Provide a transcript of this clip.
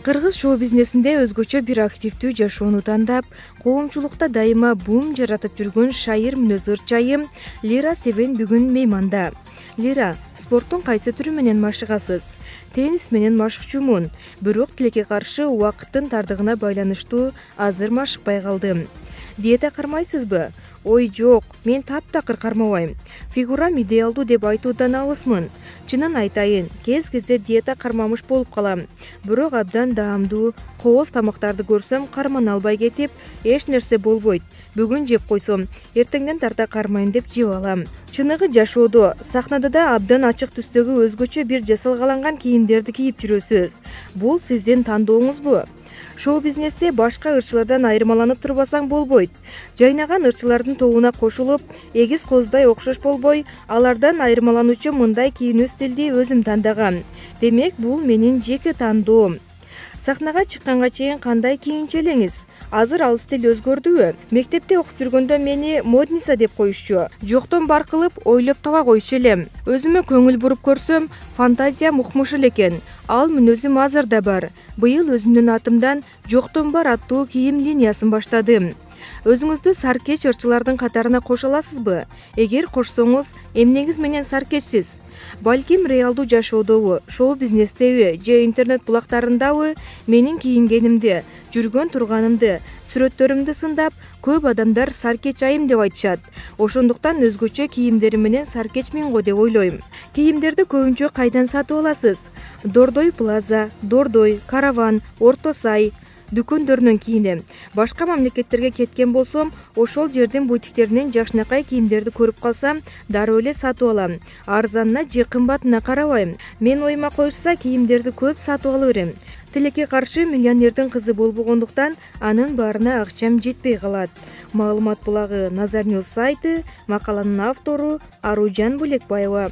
Кыргыз шоу-бизнесинде өзгөчө бир активдүү жашоону тандап, коомчулукта дайыма бум жаратып жүргөн шайыр мүнөз ырчайым Лира Себен бүгүн мейманда. Лира, спорттун кайсы түрү менен машыгасыз? Теннис менен машыкчумун, бирок тилекке каршы убакыттын тардыгына байланыштуу азыр машыкпай калдым. Диета кармайсызбы? Ой жок, мен таптакыр кармабайм. Фигурам идеалдуу деп айтуудан алысмын. Чынын айтайын, кез-кезде диета кармамыш болуп калам. Бирок абдан даамдуу, кооз тамактарды көрсөм кармана албай кетип, эч нерсе болбойт. Бүгүн жеп койсом, эртеңден тарта кармайм деп жеп алам. Чыныгы жашоодо, сахнада да абдан ачык түстөгү өзгөчө бир жасалгаланган кийимдерди кийип жүрөсүз. Бул сиздин тандооңузбу? Шоу-бизнесте башка ырчылардан айырмаланып турбасаң болбойт. Жайнаган ырчылардын тобуна кошулуп, эгиз коздай окшош болбой, алардан айырмалануучу мындай кийинүү стилди өзүм тандагам. Демек, бул менин жеке тандоом. Сахнага чыкканга чейин кандай кийинчү элеңиз? Азыр ал стиль өзгөрдүбү? Мектепте окуп жүргөндө мени модница деп коюшчу. Жоктон бар кылып, ойлоп таба койчу элем. Өзүмө көңүл буруп көрсөм, фантазиям укмуш экен. Ал мүнөзүм азыр да бар. Быйыл өзүмдүн атымдан жоктон бар аттуу кийим линиясын баштадым. Өзүңүздү саркеч ырчылардын катарына кошо аласызбы? Эгер кошсоңуз, эмнеңиз менен саркечсиз? Балким реалдуу жашоодобу, шоу-бизнестеби же интернет булактарындабы менин кийингенимди, жүргөн турганымды, сүрөттөрүмдү сындап, көп адамдар саркеч айым деп айтышат. Ошондуктан өзгөчө кийимдерим менен саркечмин го деп ойлойм. Кийимдерди көбүнчө кайдан сатып аласыз? Дордой Плаза, Дордой, Караван, Орто Сай дүкөндөрүнөн кийинем. Башка мамлекеттерге кеткен болсом, ошол жердин бутиктеринен жакшынакай кийимдерди көрүп калсам, дароо эле сатып алам. Арзанына же кымбатына карабайм. Мен оюма коюшса, кийимдерди көп сатып ала берем. Тилекке каршы миллионердин кызы болбогондуктан, анын баарына акчам жетпей калат. Маалымат булагы Назар Ньюс сайты, макаланын автору Аружан Булекбаева.